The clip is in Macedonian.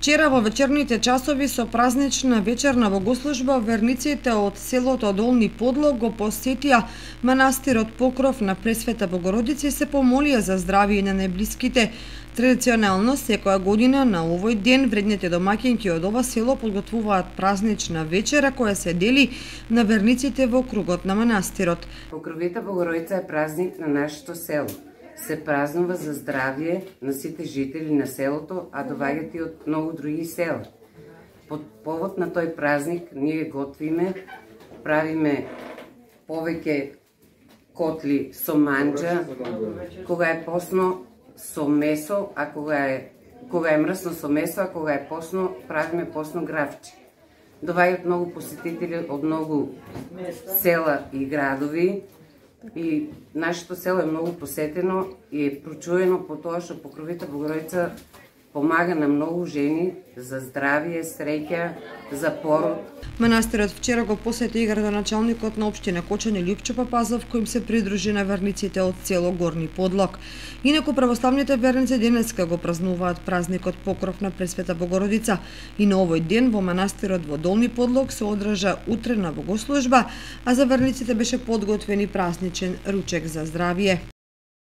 Вчера во вечерните часови со празнична вечерна богослужба верниците од селото Долни Подлог го посетија манастирот Покров на Пресвета Богородица и се помолија за здравје на најблиските. Традиционално секоја година на овој ден вредните домаќинки од ова село подготвуваат празнична вечера која се дели на верниците во кругот на манастирот. Покровита Богородица е празник на нашето село. Се празнува за здравје на сите жители на селото, а доаѓаат и од многу други села. Под повод на тој празник ние готвиме, правиме повеќе котли со манџа, кога е посно со месо, а кога е мрсно со месо, а кога е посно правиме посно гравче. Доаѓаат многу посетители од многу села и градови. И нашето село е многу посетено и е прочуено по тоа што Покровита Богородица помага на многу жени за здравје, среќа, за пород. Манастирот вчера го посети и градоначалникот на општина Кочани Љупчо Папазов, кој им се придружи на верниците од село Горни Подлог. Инаку православните верници денеска го празнуваат празникот Покров на Пресвета Богородица и на овој ден во манастирот во Долни Подлог се одржа утрена богослужба, а за верниците беше подготвен и празничен ручек за здравје.